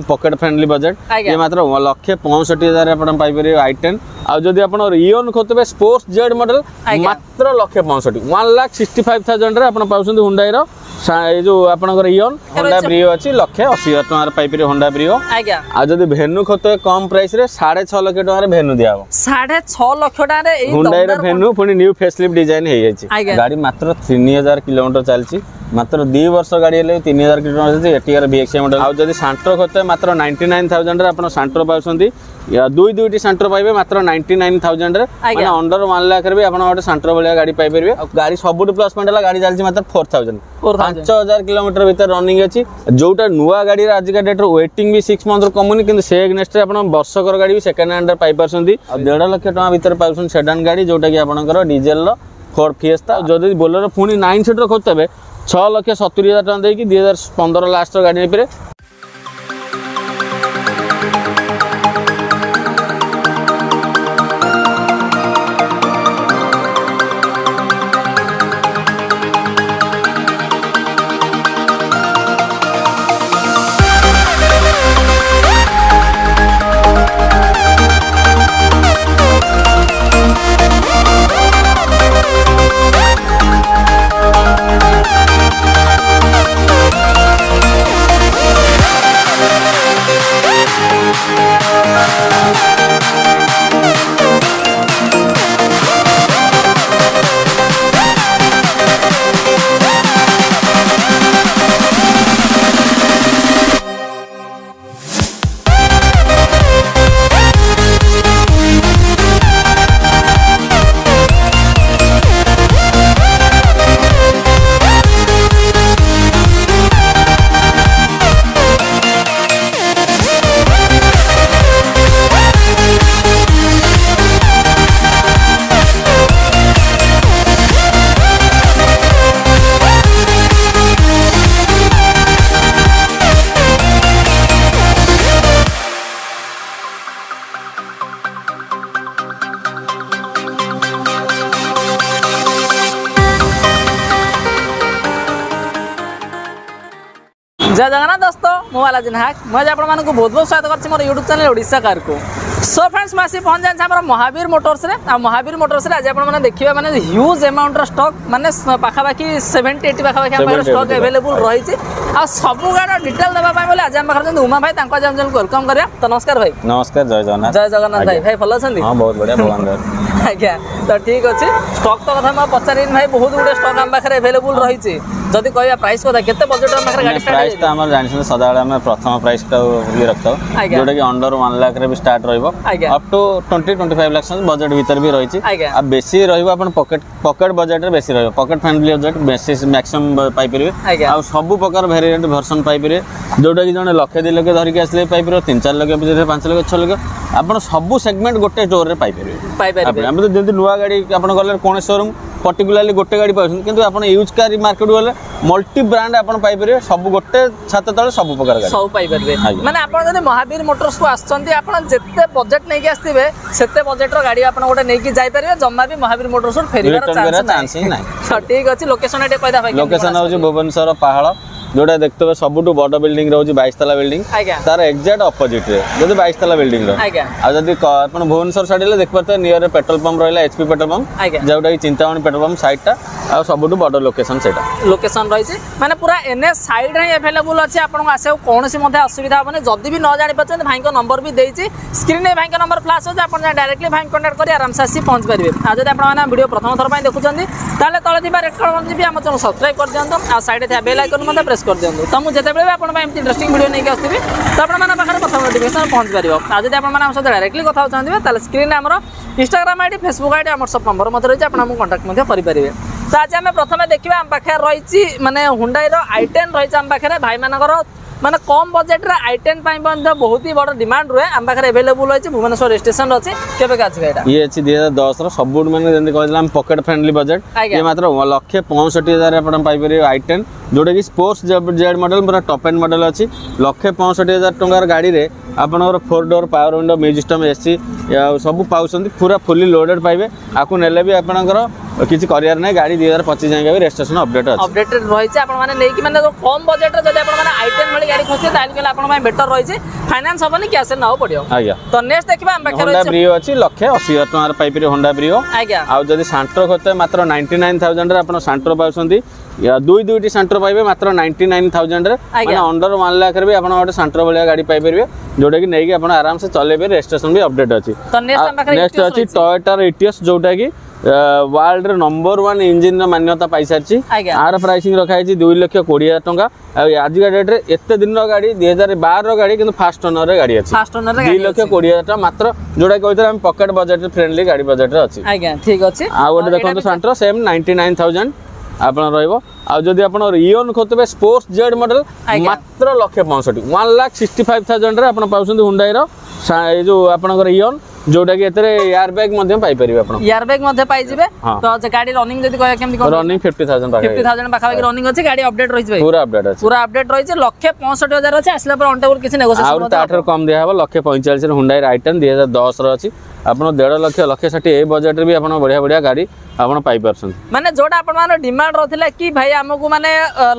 Pocket friendly budget ଇଏ ମାତ୍ର 1,65,000 ଆପଣ ପାଇପାରିବେ i10। ଆଉ ଯଦି ଆପଣ ଇଅନ୍ ଖୋଜୁଥିବେ ସ୍ପୋର୍ଟସ ଜେଡ୍ ମଡେଲ, ମାତ୍ର ଲକ୍ଷେ ପଞ୍ଚଷଠି, 1,65,000ରେ ଆପଣ ପାଉଛନ୍ତି ହୁଣ୍ଡାଇର ଏଇ ଯୋଉ ଆପଣଙ୍କର ଇଅନ୍। ହୋଣ୍ଡା ବ୍ରିଓ ଅଛି, 1,80,000 ଟଙ୍କାରେ ପାଇପାରିବେ ହୋଣ୍ଡା ବ୍ରିଓ। ଆଉ ଯଦି ଭେନୁ ଖୋଜୁଥିବେ କମ୍ ପ୍ରାଇସରେ, 6.5 ଲକ୍ଷ ଟଙ୍କାରେ ଭେନୁ ଦିଆହବ। 6.5 ଲକ୍ଷ ଟଙ୍କାରେ ଏଇ ହୁଣ୍ଡାଇର ଦମଦାର ଭେନୁ, ପୁଣି ନ୍ୟୁ ଫେସଲିଫ୍ଟ ଡିଜାଇନ ହେଇଯାଇଛି। ଗାଡି ମାତ୍ର 3000 କିଲୋମିଟର ଚାଲିଛି। ମାତ୍ର 2 ବର୍ଷ ଗାଡି ହେଲେ 3000 କିଲୋମିଟର ଚାଲିଛି। ATR VXI model. ଆଉ ଯଦି ସାଣ୍ଟ୍ରୋ ଖୋଜୁଥିବେ, ମାତ୍ର 99,000ରେ ଆପଣ ସାଣ୍ଟ୍ରୋ ପାଉଛନ୍ତି। ଦୁଇ ଦୁଇଟି ସାଣ୍ଟ୍ରୋ ପାଇବେ ମାତ୍ର 99,000ରେ। ମାନେ ଅଣ୍ଡର 1 ଲାଖରେ ବି ଆପଣ ଗୋଟେ ସାଣ୍ଟ୍ରୋ ଭଳିଆ ଗାଡି ପାଇପାରିବେ। ଆଉ ଗାଡି ସବୁଠୁ ପ୍ଲସ୍ ପଏଣ୍ଟ ହେଲା, ଗାଡି ଚାଲିଛି ମାତ୍ର 4000, 5000 କିଲୋମିଟର ଭିତରେ ରନିଂ ଅଛି। ଯୋଉଟା ନୂଆ ଗାଡିର ଆଜିକା ଡେଟ୍ରେ ୱେଟିଂ ବି 6 ମନ୍ଥରୁ କମୁନି, କିନ୍ତୁ ସେ ଏଗନେଷ୍ଟରେ ଆପଣ ବର୍ଷକର ଗାଡି ବି ସେକେଣ୍ଡ ହ୍ୟାଣ୍ଡରେ ପାଇପାରୁଛନ୍ତି। ଆଉ 1.5 ଲକ୍ଷ ଟଙ୍କା ଭିତରେ ପାଉଛନ୍ତି ସେଡାନ୍ ଗାଡି, ଯୋଉଟା କି ଆପଣଙ୍କର ଡିଜେଲର ଫୋର୍ଡ ଫିଏସ୍ତା। ଯଦି ବୋଲେରୋ ପୁଣି 9 ସିଟର ଖୋଜୁଥିବେ, 6,70,000 ଟଙ୍କା ଦେଇକି 2015 ଲାଷ୍ଟର ଗାଡି ନେଇପାରିବେ। ଜୟ ଜଗନ୍ନାଥ ଦୋସ୍ତ, ମୁଁ ବାଲାଜୀ ନାୟକ। ମୁଁ ଆଜି ଆପଣମାନଙ୍କୁ ବହୁତ ବହୁତ ସ୍ୱାଗତ କରୁଛି ମୋର ୟୁଟ୍ୟୁବ୍ ଚ୍ୟାନେଲ୍ ଓଡ଼ିଶା କାରକୁ। ସୋ ଫ୍ରେଣ୍ଡସ୍, ମୁଁ ଆସି ପହଞ୍ଚି ଆମର ମହାବୀର ମୋଟର୍ସରେ। ଆଉ ମହାବୀର ମୋଟର୍ସରେ ଆଜି ଆପଣମାନେ ଦେଖିବେ ମାନେ ହ୍ୟୁଜ୍ ଆମାଉଣ୍ଟର ଷ୍ଟକ୍, ମାନେ ପାଖାପାଖି 70-80 ପାଖାପାଖି ଆମ ପାଖରେ 70 ଷ୍ଟକ୍ 80 ଆଭେଲେବୁଲ୍ ରହିଛି। ଆଉ ସବୁ ଗାଡ଼ିର ଡିଟେଲ୍ ଦେବା ପାଇଁ ବୋଲି ଆଜି ଆମ ପାଖରେ ଅଛନ୍ତି ଉମା ଭାଇ, ତାଙ୍କୁ ଆଜି ଆମ ଚ୍ୟାନେଲକୁ welcome କରିବା। ତ ନମସ୍କାର ଭାଇ। ନମସ୍କାର, ଜୟ ଜଗନ୍ନାଥ। ଜୟ ଜଗନ୍ନାଥ ଭାଇ। ଭାଇ, ଭଲ ଅଛନ୍ତି? ହଁ, ବହୁତ ବଢିଆ, ଭଗବାନ ଦୟାରୁ। ଆଜ୍ଞା, ତ ଠିକ୍ ଅଛି। ଷ୍ଟକ୍ ତ କଥା ମୁଁ ଆଉ ପଚାରିନି ଭାଇ, ବହୁତ ଗୁଡ଼ିଏ ଷ୍ଟକ୍ ଆମ ପାଖରେ ଆଭେଲେବୁଲ୍ ରହିଛି। ଯଦି କହିବା ପ୍ରାଇସ୍ କଥା, କେତେ ବଜେଟ୍ ଆମ ପାଖରେ ଗାଡ଼ି ଷ୍ଟାର୍ଟ ପ୍ରାଇସ୍ ତ ଆମର ଜାଣିଛନ୍ତି, ସଦାବେଳେ ଆମେ ପ୍ରଥମ ପ୍ରାଇସ୍ ଟା ଇଏ ରଖିଥାଉ, ଯୋଉଟା କି ଅଣ୍ଡର 1 ଲାଖରେ ବି ଷ୍ଟାର୍ଟ ରହିବ, ଅପ୍ ଟୁ 20-25 ଲାକ୍ଷ ବଜେଟ୍ ଭିତରେ ବି ରହିଛି। ଆଉ ବେଶୀ ରହିବ ଆପଣ ପକେଟ ବଜେଟରେ ବେଶୀ ରହିବ, ପକେଟ ଫ୍ରେଣ୍ଡଲି ବଜେଟ୍ ବେଶୀ ମ୍ୟାକ୍ସିମମ୍ ପାଇପାରିବେ। ଆଉ ସବୁ ପ୍ରକାର ଭେରିଏଣ୍ଟ ଭର୍ସନ ପାଇପାରିବେ, ଯୋଉଟା କି ଜଣେ ଲକ୍ଷେ 2 ଲକ୍ଷ ଧରିକି ଆସିଲେ ବି ପାଇପାରିବ, 3-4 ଲକ୍ଷ ଭିତରେ, 5 ଲକ୍ଷ, 6 ଲକ୍ଷ, ଆପଣ ସବୁ ସେଗମେଣ୍ଟ ଗୋଟେ ଷ୍ଟୋରରେ ପାଇପାରିବେ। ପାଇପାରିବେ। ଆମେ ତ ଯେମିତି ନୂଆ ଗାଡ଼ି ଆପଣ ଗଲେ କୌଣସି ସୋରୁମ୍ ପର୍ଟିକୁଲାରଲି ଗୋଟେ ଗାଡ଼ି ପାଉଛନ୍ତି, କିନ୍ତୁ ଆପଣ ୟୁଜ୍ କାର୍ ମାର୍କେଟ ଗଲେ ମଲ୍ଟି ବ୍ରାଣ୍ଡ ଆପଣ ପାଇପାରିବେ, ସବୁ ଗୋଟେ ଛାତ ତଳେ ସବୁ ପ୍ରକାର ଗାଡ଼ି। ସବୁ ପାଇପାରିବେ। ଆଜ୍ଞା। ମାନେ ଆପଣ ଯଦି ମହାବୀର ମୋଟର୍ସକୁ ଆସୁଛନ୍ତି, ଆପଣ ଯେତେ ବଜେଟ୍ ନେଇକି ଆସିଥିବେ, ସେତେ ବଜେଟ୍ର ଗାଡ଼ି ଆପଣ ଗୋଟେ ନେଇକି ଯାଇପାରିବେ। ଜମା ବି ମହାବୀର ମୋଟର୍ସରୁ ଫେରିବାର ରିଟର୍ନ କରିବା ଚାନ୍ସ ଚାନ୍ସ ହିଁ ନାହିଁ। ତ ଠିକ୍ ଅଛି, ଲୋକେସନ ଟିକେ କହିଦା ଭାଇ, କେମିତି ଲୋକେସନ କଣ ହେଉଛି ଆସିପାରିବେ? ଭୁବନେଶ୍ୱର ପାହାଳ, ଯୋଉଟା ଦେଖୁଥିବେ ସବୁଠୁ ବଡ଼ ବିଲ୍ଡିଂ ରହୁଛି, 22 ତାଲା ବିଲ୍ଡିଂ, ତାର ଏକ୍ଜାକ୍ଟ ଅପୋଜିଟରେ, ଯଦି 22 ତାଲା ବିଲ୍ଡିଂ ର। ଆଉ ଯଦି ଆପଣ ଭୁବନେଶ୍ୱର ସାଇଡ୍ ହେଲେ ଦେଖିପାରୁଥିବେ, ନିୟର ପେଟ୍ରୋଲ ପମ୍ପ ରହିଲା, ଏଚପି ପେଟ୍ରୋଲ ପମ୍ପ, ଯୋଉଟା କି ଚିନ୍ତାମଣି ପେଟ୍ରୋଲ ପମ୍ପ ସାଇଡ୍ଟା, ଆଉ ସବୁଠୁ ବଡ଼ ଲୋକେସନ ସେଇଟା। ଲୋକେସନ ରହିଛି, ମାନେ ପୁରା ଏନ୍ଏଚ୍ ସାଇଡ୍ରେ ହିଁ ଆଭେଲେବୁଲ୍ ଅଛି। ଆପଣଙ୍କୁ ଆସିବାକୁ କୌଣସି ମଧ୍ୟ ଅସୁବିଧା ହେବନି। ଯଦି ବି ନ ଜାଣିପାରୁଛନ୍ତି, ଭାଇଙ୍କ ନମ୍ବର ବି ଦେଇଛି, ସ୍କ୍ରିନ୍ରେ ଭାଇଙ୍କ ନମ୍ବର ଫ୍ଲାସ୍ ହେଉଛି, ଆପଣ ଡାଇରେକ୍ଟଲି ଭାଇଙ୍କ କଣ୍ଟାକ୍ଟ କରି ଆରାମସେ ଆସି ପହଞ୍ଚି ପାରିବେ। ଆଉ ଯଦି ଆପଣମାନେ ଭିଡ଼ିଓ ପ୍ରଥମ ଥର ପାଇଁ ଦେଖୁଛନ୍ତି, ତାହେଲେ ତଳେ ଥିବା ରେଡ୍ କଲର୍ ବି ଆମ ଚ୍ୟାନେଲ୍ ସବସ୍କ୍ରାଇବ୍ କରିଦିଅନ୍ତୁ ଆଉ ସାଇଡ଼୍ରେ ଥିବା ବେଲ୍ ଆଇକନ୍ ମଧ୍ୟ ପ୍ରେସ୍ କରିଦିଅନ୍ତୁ। ତ ମୁଁ ଯେତେବେଳେ ବି ଆପଣଙ୍କ ପାଇଁ ଏମିତି ଇଣ୍ଟରେଷ୍ଟିଂ ଭିଡ଼ିଓ ନେଇକି ଆସୁଥିବି, ତ ଆପଣମାନଙ୍କ ପାଖରେ ପ୍ରଥମ ନୋଟିଫିକେସନ୍ ପହଞ୍ଚି ପାରିବ। ଆଉ ଯଦି ଆପଣମାନେ ଆମ ସହିତ ଡାଇରେକ୍ଟଲି କଥା ହେଉଛନ୍ତି, ତାହେଲେ ସ୍କ୍ରିନ୍ରେ ଆମର ଇନଷ୍ଟାଗ୍ରାମ ଆଇଡି, ଫେସବୁକ୍ ଆଇଡି, ଆମର ସବୁ ନମ୍ବର ମଧ୍ୟ ରହିଛି, ଆପଣ ଆମକୁ କଣ୍ଟାକ୍ଟ ମଧ୍ୟ କରିପାରିବେ। ତ ଆଜି ଆମେ ପ୍ରଥମେ ଦେଖିବା, ଆମ ପାଖରେ ରହିଛି ମାନେ ହୁଣ୍ଡାଇର i10 ରହିଛି ଆମ ପାଖରେ। ଭାଇମାନଙ୍କର ମାନେ କମ୍ ବଜେଟ୍ରେ i10 ପାଇଁ ମଧ୍ୟ ବହୁତ ହି ବଡ଼ ଡିମାଣ୍ଡ ରୁହେ। ଆମ ପାଖରେ ଆଭେଲେବୁଲ୍ ରହିଛି, ଭୁବନେଶ୍ୱର ରେଜିଷ୍ଟ୍ରେସନ ଅଛି। କେବେ ଅଛି ଭାଇ ଏଇଟା? ଇଏ ଅଛି 2010ର, ସବୁଠୁ ମାନେ ଯେମିତି କହିଥିଲା ଆମେ ପକେଟ ଫ୍ରେଣ୍ଡଲି ବଜେଟ୍। ଇଏ ମାତ୍ର 1,65,000 ଆପଣ ପାଇପାରିବେ i10, ଯୋଉଟା କି ସ୍ପୋର୍ଟସ ଜେଡ୍ ମଡେଲ, ପୁରା ଟପ୍ ଏଣ୍ଡ ମଡେଲ ଅଛି। 1,65,000 ଟଙ୍କାର ଗାଡ଼ିରେ ଆପଣଙ୍କର four door power window, music system, AC ଆଉ ସବୁ ପାଉଛନ୍ତି, ପୁରା ଫୁଲି ଲୋଡେଡ୍ ପାଇବେ। ଆକୁ ନେଲେ ବି ଆପଣଙ୍କର କିଛି କରିବାର ନାହିଁ। ଗାଡ଼ି 2025 ଯାଏଁ ବି ରେଜିଷ୍ଟ୍ରେସନ ଅପଡେଟ୍ ଅଛି। ଅପଡେଟେଡ୍ ରହିଛି। ଆପଣମାନେ ନେଇକି ମାନେ ଯୋଉ କମ୍ ବଜେଟରେ ଯଦି ଆପଣମାନେ i10 ଭଳି ଗାଡ଼ି ଖୋଜିବେ, ତାହେଲେ କହିଲେ ଆପଣଙ୍କ ପାଇଁ ବେଟର ରହିଛି। ଫାଇନାନ୍ସ ହବନି, କ୍ୟାସ୍ ନେବାକୁ ପଡ଼ିବ। ଆଜ୍ଞା। ତ ନେକ୍ସଟ ଦେଖିବା, ଆମ ପାଖରେ ହୋଣ୍ଡା ରହିଛି ବ୍ରିଓ ଅଛି, 1,80,000 ଟଙ୍କାରେ ପାଇପାରିବେ ହୋଣ୍ଡା ବ୍ରିଓ। ଆଉ ଯଦି ସାଣ୍ଟ୍ରୋ ଖୋଜତେ, ମାତ୍ର 99,000ରେ ଆପଣ ସାଣ୍ଟ୍ରୋ ପାଉଛନ୍ତି। ଦୁଇ ଦୁଇଟି ସାଣ୍ଟ୍ରୋ ପାଇବେ ମାତ୍ର 99,000ରେ। ମାନେ ଅଣ୍ଡର 1 ଲାଖରେ ବି ଆପଣ ଗୋଟେ ସାଣ୍ଟ୍ରୋ ଭଳିଆ ଗାଡ଼ି ପାଇପାରିବେ, ଯୋଉଟାକି ନେଇକି ଆପଣ ଆରାମସେ ଚଲେଇବେ। ରେଜିଷ୍ଟ୍ରେସନ ବି ଅପଡେଟ୍ ଅଛି। ତ ନେକ୍ସଟ ଆମ ପାଖରେ ନେକ୍ସଟ Etios ଅଛି ରହିଛି। ଟୟୋଟାର ଇଟିଓସ୍, ଯୋଉଟାକି ୱାର୍ଲଡର ନମ୍ବର ୱାନ୍ ଇଞ୍ଜିନର ମାନ୍ୟତା ପାଇସାରିଛି। ଆର ପ୍ରାଇସିଂ ରଖାହେଇଛି 2,20,000 ଟଙ୍କା। ଆଉ ଆଜିକା ଡେଟ୍ରେ ଏତେ ଦିନର ଗାଡ଼ି, 2012ର ଗାଡ଼ି, କିନ୍ତୁ ଫାଷ୍ଟ ଓନରରେ ଗାଡ଼ି ଅଛି। ଫାଷ୍ଟ ଓନରରେ 2,20,000 ଟଙ୍କା ମାତ୍ର, ଯୋଉଟା କହିଥିଲେ ଆମେ ପକେଟ ବଜେଟ୍ ଫ୍ରେଣ୍ଡଲି ଗାଡ଼ି ବଜେଟରେ ଅଛି। ଆଜ୍ଞା, ଠିକ ଅଛି। ଆଉ ଗୋଟେ ତ ଏଇଟା ଦେଖନ୍ତୁ, ସାଣ୍ଟ୍ରୋ ସେମ୍ 99,000 ଆପଣ ରହିବ। ଆଉ ଯଦି ଆପଣ ଇଓନ୍ ଖୋଜୁଥିବେ, ସ୍ପୋର୍ଟସ ଜେଡ୍ ମଡେଲ, ମାତ୍ର ଲକ୍ଷେ ପଞ୍ଚଷଠି, 1,65,000ରେ ଆପଣ ପାଉଛନ୍ତି ହୁଣ୍ଡାଇର ଏଇ ଯୋଉ ଆପଣଙ୍କର ଇଓନ୍, ଯୋଉଟାକି ଏଥିରେ ଏୟାର ବ୍ୟାଗ୍ ମଧ୍ୟ ପାଇପାରିବେ ଆପଣ। ଏୟାର ବ୍ୟାଗ୍ ମଧ୍ୟ ପାଇଯିବେ। ହଁ। ତ ଯେ ଗାଡ଼ି ରନିଂ ଯଦି କହିବା, କେମିତି କଣ? ରନିଂ 50,000 ଫିଫ୍ଟି ପାଖାପାଖି। ଥାଉଜେଣ୍ଡ ପାଖାପାଖି ରନିଂ ଅଛି। ଗାଡ଼ି ଅପଡେଟ୍ ରହିଛି ଭାଇ? ପୁରା ଅପଡେଟ୍ ଅଛି। ପୁରା ଅପଡେଟ୍ ରହିଛି। 1,65,000 ଅଛି, ଆସିଲା ପରେ ଅନ୍ ଟେବୁଲ କିଛି ନେଗୋସିଏସନ ଆହୁରି ତାଠାରୁ କମ୍ ଦିଆହବ। ଲକ୍ଷେ ପଇଁଚାଳିଶରେ ହୁଣ୍ଡାଇର ଆଇଟେନ୍ 2010ର ଅଛି। ଆପଣ 1.5 ଲକ୍ଷ, ଲକ୍ଷେ ଷାଠିଏ, ଏଇ ବଜେଟରେ ବି ଆପଣ ବଢ଼ିଆ ବଢ଼ିଆ ଗାଡ଼ି ଆପଣ ପାଇପାରୁଛନ୍ତି। ମାନେ ଯୋଉଟା ଆପଣଙ୍କର ଡିମାଣ୍ଡ ରହୁଥିଲା କି ଭାଇ, ଆମକୁ ମାନେ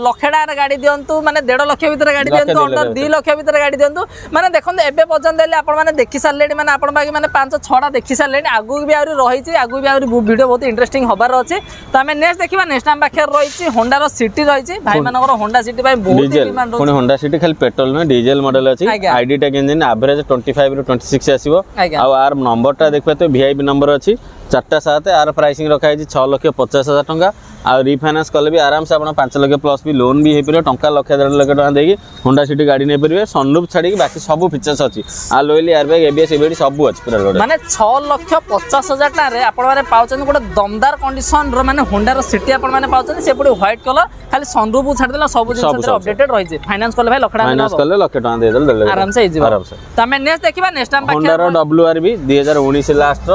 ଲକ୍ଷେ ଟଙ୍କାର ଗାଡ଼ି ଦିଅନ୍ତୁ, ମାନେ 1.5 ଲକ୍ଷ ଭିତରେ ଗାଡ଼ି ଲକ୍ଷେ ଦିଅନ୍ତୁ, 2 ଅଣ୍ଡର ଲକ୍ଷ 2 ଲକ୍ଷ ଭିତରେ ଗାଡ଼ି ଦିଅନ୍ତୁ। ମାନେ ଦେଖନ୍ତୁ, ଏବେ ପର୍ଯ୍ୟନ୍ତ ହେଲେ ଆପଣମାନେ ଦେଖି ସାରିଲେଣି, ମାନେ ଆପଣ ପାଖେ ମାନେ ପାଞ୍ଚ ଛଅଟା ଦେଖି ସାରିଲେଣି। ଆଗକୁ ବି ଆହୁରି ରହିଛି, ଆଗକୁ ବି ଆହୁରି ଭିଡ଼ିଓ ବହୁତ ଇଣ୍ଟରେଷ୍ଟିଂ ହବାର ଅଛି। ତ ଆମେ ନେକ୍ସଟ ଦେଖିବା। ନେକ୍ସଟ ଆମ ପାଖରେ ରହିଛି ହୋଣ୍ଡାର ସିଟି ରହିଛି। ଭାଇମାନଙ୍କର ହୋଣ୍ଡା ସିଟି ପାଇଁ ବହୁତ ଡିଜେଲ ଡିମାଣ୍ଡ ପୁଣି ରହୁଛି। ହୋଣ୍ଡା ସିଟି ଖାଲି ପେଟ୍ରୋଲ ନୁହେଁ, ଡିଜେଲ ମଡେଲ ଅଛି। ID tech engine, average 25 ରୁ 26 ଆସିବ। ଆଉ ଆର ନମ୍ବରଟା ଦେଖିବେ ତ ଭିଆଇପି ନମ୍ବର ଅଛି, 4ଟା 7। ଆର ପ୍ରାଇସିଂ ରଖାହେଇଛି 6,50,000 ଟଙ୍କା। ଆଉ ରିଫାଇନାନ୍ସ କଲେ ବି ଆରାମସେ ଆପଣ 5 ଲକ୍ଷ ପ୍ଲସ୍ ବି ଲୋନ୍ ବି ହେଇପାରିବ। ଟଙ୍କା ଲକ୍ଷେ 1.5 ଲକ୍ଷ ଟଙ୍କା ଦେଇକି ହୋଣ୍ଡା ସିଟି ଗାଡ଼ି ନେଇପାରିବେ। ସନରୁଫ୍ ଛାଡ଼ିକି ବାକି ସବୁ ଫିଚର୍ସ ଅଛି। Alloy wheel, air bag, ABS, EBD ସବୁ ଅଛି ପୁରା ଲୋଡ୍। ମାନେ 6,50,000 ଟଙ୍କାରେ ଆପଣମାନେ ପାଉଛନ୍ତି ଗୋଟେ ଦମଦାର କଣ୍ଡିସନର, ମାନେ ହୋଣ୍ଡାର ସିଟି ଆପଣମାନେ ପାଉଛନ୍ତି। ସେ ପୁଣି ହ୍ୱାଇଟ୍ କଲର, ଖାଲି ସନରୁଫ୍ ଛାଡ଼ିଦେଲା ସବୁ ଜିନିଷ ସବୁ, ସବୁ। ଅପଡେଟେଡ୍ ରହିଛି। ଫାଇନାନ୍ସ କଲେ ଭାଇ ଲକ୍ଷ ଟଙ୍କା ଫାଇନାନ୍ସ କଲେ ଲକ୍ଷେ ଟଙ୍କା ଦେଇଦେଲେ 1.5 ଲକ୍ଷ ଆରାମସେ ହେଇଯିବ। ଆରାମସେ। ତ ଆମେ ନେକ୍ସଟ ଦେଖିବା। ନେକ୍ସଟ ଆମ ପାଖରେ ହୋଣ୍ଡାର ଡବ୍ଲ୍ୟୁ ଆର୍ ଭି 2019 ଲାଷ୍ଟର,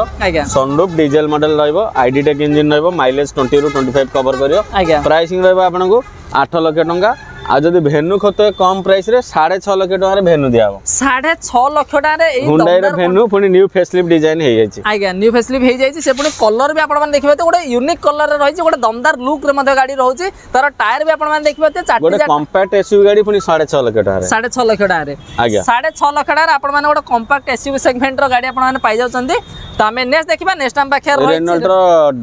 ସନରୁଫ୍, ଡିଜେଲ ମଡେଲ ରହିବ, ଆଇଡି ଟେକ୍ ଇଞ୍ଜିନ୍ ରହିବ, ମାଇଲେଜ 20ରୁ 25 କଭର କରିବ। ପ୍ରାଇସିଂ ରହିବ ଆପଣଙ୍କୁ 8 ଲକ୍ଷ ଟଙ୍କା। ଆଉ ଯଦି ଭେନୁ ଖୋଜୁଥିବେ, କମ୍ ପ୍ରାଇସରେ 6.5 ଲକ୍ଷ ଟଙ୍କାରେ ଭେନୁ ଦିଆହବ। 6.5 ଲକ୍ଷ ଟଙ୍କାରେ ଏଇ ହୁଣ୍ଡାଇର ଦମଦାର ଭେନୁ, ପୁଣି ନ୍ୟୁ ଫେସଲିଫ୍ଟ ଡିଜାଇନ ହେଇଯାଇଛି। ଆଜ୍ଞା, ନ୍ୟୁ ଫେସଲିଫ୍ଟ ହେଇଯାଇଛି। ସେ ପୁଣି କଲର ବି ଆପଣମାନେ ଦେଖିବେ ତ ଗୋଟେ ୟୁନିକ୍ କଲରରେ ରହିଛି, ଗୋଟେ ଦମଦାର ଲୁକ୍ରେ ମଧ୍ୟ ଗାଡ଼ି ରହୁଛି। ତାର ଟାୟାର ବି ଆପଣମାନେ ଦେଖିପାରୁଥିବେ ଚାରିଟି ଗୋଟେ କମ୍ପାକ୍ଟ ଏସୟୁଭି ଗାଡ଼ି ପୁଣି 6.5 ଲକ୍ଷ ଟଙ୍କାରେ। 6.5 ଲକ୍ଷ ଟଙ୍କାରେ? ଆଜ୍ଞା। 6.5 ଲକ୍ଷ ଟଙ୍କାରେ ଆପଣମାନେ ଗୋଟେ କମ୍ପାକ୍ଟ ଏସୟୁଭି ସେଗମେଣ୍ଟର ଗାଡ଼ି ଆପଣମାନେ ପାଇଯାଉଛନ୍ତି। ତ ଆମେ ନେକ୍ସଟ ଦେଖିବା। ନେକ୍ସଟ ଆମ ପାଖରେ ରହିଛି ରେନଲ୍ଟର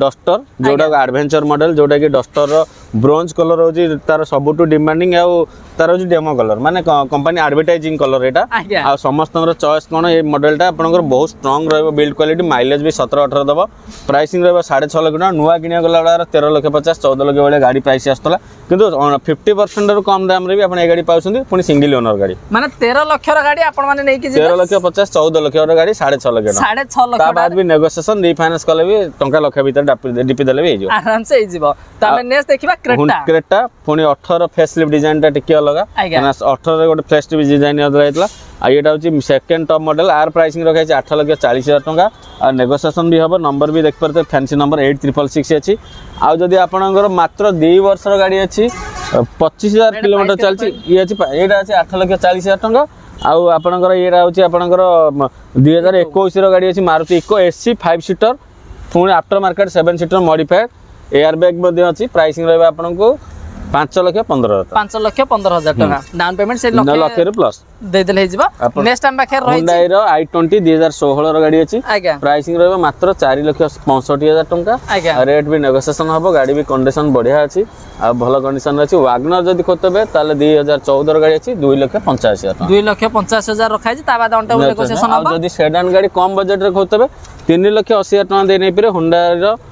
ଡଷ୍ଟର, ଯୋଉଟା ଆଡଭେଞ୍ଚର ମଡେଲ, ଯୋଉଟା କି ଡଷ୍ଟରର ବ୍ରୋଞ୍ଜ କଲର ହଉଛି ତାର ସବୁଠୁ ଡିମାଣ୍ଡିଂ। ଆଉ ତାର ହଉଛି ଡେମୋ କଲର, ମାନେ କମ୍ପାନୀ ଆଡଭର୍ଟାଇଜିଂ କଲର ଏଇଟା। ଆଉ ସମସ୍ତଙ୍କର ଚଏସ୍ କ'ଣ ଏ ମଡେଲଟା ଆପଣଙ୍କର ବହୁତ ଷ୍ଟ୍ରଙ୍ଗ ରହିବ, ବିଲ୍ଡ କ୍ୱାଲିଟି, ମାଇଲେଜ ବି 17-18 ଦେବ। ପ୍ରାଇସିଂ ରହିବ 6.5 ଲକ୍ଷ ଟଙ୍କା। ନୂଆ କିଣିବାକୁ ଗଲା ବେଳେ 13 ଲକ୍ଷ 50, 14 ଲକ୍ଷ ଭଳିଆ ଗାଡ଼ି ପ୍ରାଇସ୍ ଆସୁଥିଲା, କିନ୍ତୁ 50%ରୁ କମ୍ ଦାମରେ ବି ଆପଣ ଏ ଗାଡ଼ି ପାଉଛନ୍ତି, ପୁଣି ସିଙ୍ଗଲ ଓନର ଗାଡ଼ି। ମାନେ 13 ଲକ୍ଷର ଗାଡ଼ି ଆପଣମାନେ ନେଇକି ଯିବେ। 13 ଲକ୍ଷ 50, 14 ଲକ୍ଷର ଗାଡ଼ି 6.5 ଲକ୍ଷ ଟଙ୍କା। 6.5 ଲକ୍ଷ ତା ବାଦ ବି ନେଗୋସିଏସନ, ରିଫାଇନାନ୍ସ କଲେ ବି ଟଙ୍କା ଲକ୍ଷ ଭିତରେ ଡିପି ଦେଲେ ବି ହେଇଯିବ। ଆରାମସେ ହେଇଯିବ। ତ ଆମେ ନେକ୍ସଟ ଦେଖିବା କ୍ରେଟା। କ୍ରେଟା ପୁଣି 18 ଫେସ୍ ଲିଫ୍ଟ ଡିଜାଇନଟା ଟିକେ ଅଲଗା, କାହିଁକିନା 18ରେ ଗୋଟେ ଫେସ୍ ଲିଫ୍ଟ ଡିଜାଇନ ଅଲଗା ହେଇଥିଲା। ଆଉ ଏଇଟା ହେଉଛି ସେକେଣ୍ଡ ଟପ୍ ମଡେଲ। ଆର ପ୍ରାଇସିଂ ରଖାଯାଇଛି 8,40,000 ଟଙ୍କା, ଆଉ ନେଗୋସିଏସନ ବି ହେବ। ନମ୍ବର ବି ଦେଖିପାରୁଥିବେ, ଫ୍ୟାନ୍ସି ନମ୍ବର 8666 ଅଛି। ଆଉ ଯଦି ଆପଣଙ୍କର ମାତ୍ର 2 ବର୍ଷର ଗାଡ଼ି ଅଛି, 25,000 ଏଇଟା କିଲୋମିଟର price ଚାଲିଛି, ଇଏ ଅଛି, ଏଇଟା ଅଛି 8,40,000 ଟଙ୍କା। ଆଉ ଆପଣଙ୍କର ଇଏଟା ହେଉଛି ଆପଣଙ୍କର 2021ର ଗାଡ଼ି ଅଛି, ମାରୁତି ଇକୋ ଏସି 5 ସିଟର, ପୁଣି after market 7 seater modified, air bag ମଧ୍ୟ ଅଛି। ପ୍ରାଇସିଂ ରହିବ ଆପଣଙ୍କୁ 5,15,000 ଟଙ୍କା। 5,15,000 ଟଙ୍କା। ଡାଉନ ପେମେଣ୍ଟ ସେ ଲକ୍ଷେ ଲକ୍ଷେରୁ ପ୍ଲସ୍ ଦେଇଦେଲେ ହେଇଯିବ। ନେକ୍ସଟ ଆମ ପାଖରେ ରହିଛି ହୁଣ୍ଡାଇର i20, 2016ର ଗାଡ଼ି ଅଛି। ପ୍ରାଇସିଂ ରହିବ ମାତ୍ର 4,65,000 ଟଙ୍କା। ରେଟ୍ ବି ନେଗୋସିଏସନ ହବ। ଗାଡ଼ି ବି କଣ୍ଡିସନ ବଢ଼ିଆ ଅଛି ଆଉ ଭଲ କଣ୍ଡିସନ ଅଛି। ୱାଗନର ଯଦି ଖୋଜୁଥିବେ, ତାହେଲେ 2014ର ଗାଡ଼ି ଅଛି, 2,85,000 ଟଙ୍କା। 2,85,000 ରଖାଯାଇଛି, ତା ବାଦ ଅନ୍ ଟେବୁଲ ନେଗୋସିଏସନ ଆଉ ହବ। ଯଦି ସେଡାନ ଗାଡ଼ି କମ୍ ବଜେଟରେ ଖୋଜୁଥିବେ, 3,80,000 ଟଙ୍କା ଦେଇ ନେଇପାରିବେ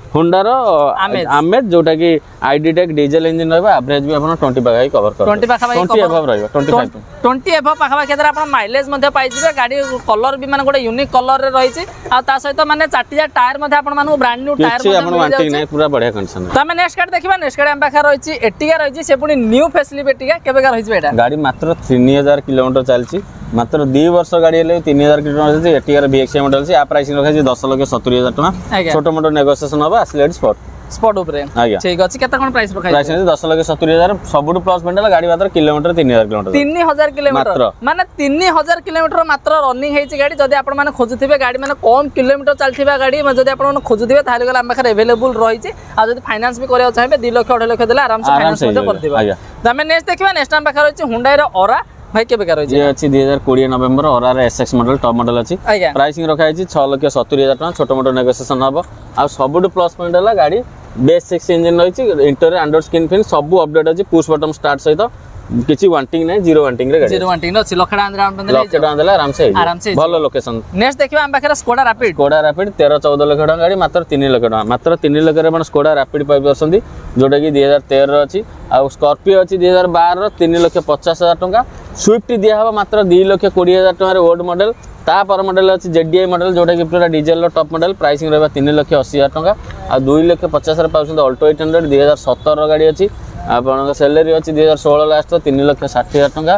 ହୁଣ୍ଡାର Amaze। ଆମେଜ, ଯୋଉଟା କି ଆଇଡି ଟେକ୍ ଡିଜେଲ ଇଞ୍ଜିନ ରହିବ। ଆଭରେଜ ବି ଆପଣ 20 ପାଖାପାଖି କଭର କରିବ। 20 ପାଖାପାଖି। 20 ଏବଭ ରହିବ, 25। 20 ଏବଭ ପାଖାପାଖି ଏଥିରେ ଆପଣ ମାଇଲେଜ ମଧ୍ୟ ପାଇଯିବେ। ଗାଡ଼ି କଲର ବି ମାନେ ଗୋଟେ ୟୁନିକ୍ କଲରରେ ରହିଛି। ଆଉ ତା ସହିତ ମାନେ ଚାରିଟା ଟାୟାର ମଧ୍ୟ ଆପଣମାନଙ୍କୁ ବ୍ରାଣ୍ଡ ନ୍ୟୁ ଟାୟାର କିଛି ମଧ୍ୟ ଆପଣ ୱାଣ୍ଟିଂ ମିଳିଯାଉଛି। ନାହିଁ, ପୁରା ବଢିଆ କଣ୍ଡିସନ। ତ ଆମେ ନେକ୍ସଟ ଗାଡ଼ି ଦେଖିବା। ନେକ୍ସଟ ଗାଡ଼ି ଆମ ପାଖରେ ରହିଛି ଏଟିଗା ରହିଛି, ସେ ପୁଣି ନ୍ୟୁ ଫେସଲିଫ୍ଟ ଏଟିଗା। କେବେକା ରହିଛି ଏଇଟା? ଗାଡ଼ି ମାତ୍ର 3000 କିଲୋମିଟର ଚାଲିଛି। ମାତ୍ର 2 ବର୍ଷ ଗାଡ଼ି ହେଲେ 3000 କିଲୋମିଟର ଚାଲିଛି। ଏଟିଗାର ଭିଏକ୍ସଆଇ ମଡେଲ ଅଛି। ଆ ପ୍ରାଇସିଂ ରଖାଯାଇଛି 10,70,000 ଟଙ୍କା। ଛୋଟ ମୋଟ ନେଗୋସିଏସନ ହବ, ଆସିଲେ ଏଠି ସ୍ପଟ। ସ୍ପଟ ଉପରେ। ଆଜ୍ଞା। ଠିକ ଅଛି, କେତେ କଣ ପ୍ରାଇସ୍ ରଖା? ପ୍ରାଇସ୍ 10,70,000। ସବୁଠୁ ପ୍ଲସ୍ ପଏଣ୍ଟ ହେଲା ଗାଡ଼ି ମାତ୍ର କିଲୋମିଟର 3000 କିଲୋମିଟର। 3000 କିଲୋମିଟର। ମାତ୍ର। ମାନେ 3000 କିଲୋମିଟର ମାତ୍ର ରନିଂ ହେଇଛି ଗାଡ଼ି। ଯଦି ଆପଣମାନେ ଖୋଜୁଥିବେ ଗାଡ଼ି, ମାନେ କମ୍ କିଲୋମିଟର ଚାଲିଥିବା ଗାଡ଼ି ଯଦି ଆପଣମାନେ ଖୋଜୁଥିବେ, ତାହେଲେ ଗଲେ ଆମ ପାଖରେ ଆଭେଲେବୁଲ୍ ରହିଛି। ଆଉ ଯଦି ଫାଇନାନ୍ସ ବି କରିବାକୁ ଚାହିଁବେ, 2 ଲକ୍ଷ 2.5 ଲକ୍ଷ ଦେଲେ ଆରାମସେ ଫାଇନାନ୍ସ ଆରାମସେ ମଧ୍ୟ ହେଇଯିବ। କରିଦେବା। ଆଜ୍ଞା। ତ ଆମେ ନେକ୍ସଟ ଦେଖିବା। ନେକ୍ସଟ ଆମ ପାଖରେ ରହିଛି ହୁଣ୍ଡାଇର ଅରା। ଭାଇ, କେବେକା ରହିଛି? ଇଏ ଅଛି 2020 ନଭେମ୍ବର ଅରାର ଏସ୍ଏକ୍ସ ମଡେଲ, ଟପ୍ ମଡେଲ ଅଛି। ପ୍ରାଇସିଂ ରଖାଯାଇଛି 6,70,000 ଟଙ୍କା। ଛୋଟ ମୋଟ ନେଗୋସିଏସନ ହବ। ଆଉ ସବୁଠୁ ପ୍ଲସ୍ ପଏଣ୍ଟ ହେଲା ଗାଡ଼ି ବେସ୍ ସିକ୍ସ ଇଞ୍ଜିନ୍ ରହିଛି, ଇଣ୍ଟରିୟର ଆଣ୍ଡ୍ରଏଡ୍ ସ୍କ୍ରିନ୍ ଫିନ୍ ସବୁ ଅପଡେଟ୍ ଅଛି। ପୁସ୍ ବଟନ୍ ଷ୍ଟାର୍ଟ ସହିତ କିଛି ୱାଣ୍ଟିଂ ନାହିଁ, ଜିରୋ ୱାଣ୍ଟିଂରେ ଗାଡ଼ି। ଜିରୋ ୱାଣ୍ଟିଂ ଅଛି। ଲକ୍ଷେ ଟଙ୍କା ଡାଉନ୍ ପେମେଣ୍ଟ ଲକ୍ଷେ ଟଙ୍କା ଦେଲେ ଆରାମସେ ହେଇଯିବ। ଆରାମସେ ହେଇଯିବ। ଭଲ ଲୋକେସନ। ନେକ୍ସଟ ଦେଖିବା ଆମ ପାଖରେ ସ୍କୋଡା ରାପିଡ୍। ସ୍କୋଡା ରାପିଡ୍ 13-14 ଲକ୍ଷ ଟଙ୍କା ଗାଡ଼ି, ମାତ୍ର 3 ଲକ୍ଷ ଟଙ୍କା। ମାତ୍ର 3 ଲକ୍ଷରେ ଆପଣ ସ୍କୋଡା ରାପିଡ୍ ପାଇପାରୁଛନ୍ତି, ଯୋଉଟାକି 2013ର ଅଛି। ଆଉ ସ୍କର୍ପିଓ ଅଛି 2012ର, 3,50,000 ଟଙ୍କା। ସୁଇଫ୍ଟ ଦିଆହେବ ମାତ୍ର 2,20,000 ଟଙ୍କାରେ, ଓଲ୍ଡ ମଡେଲ। ତାପର ମଡେଲ ଅଛି ଜେଡିଆଇ ମଡେଲ, ଯୋଉଟାକି ପୁରା ଡିଜେଲର ଟପ୍ ମଡେଲ। ପ୍ରାଇସିଂ ରହିବ 3,80,000 ଟଙ୍କା। ଆଉ 2 ଲକ୍ଷ 50ରେ ପାଉଛନ୍ତି ଅଲ୍ଟୋ 800, 2017ର ଗାଡ଼ି ଅଛି। ଆପଣଙ୍କ ସେଲେରିଓ ଅଛି 2016 ଲାଷ୍ଟ, 3,60,000 ଟଙ୍କା।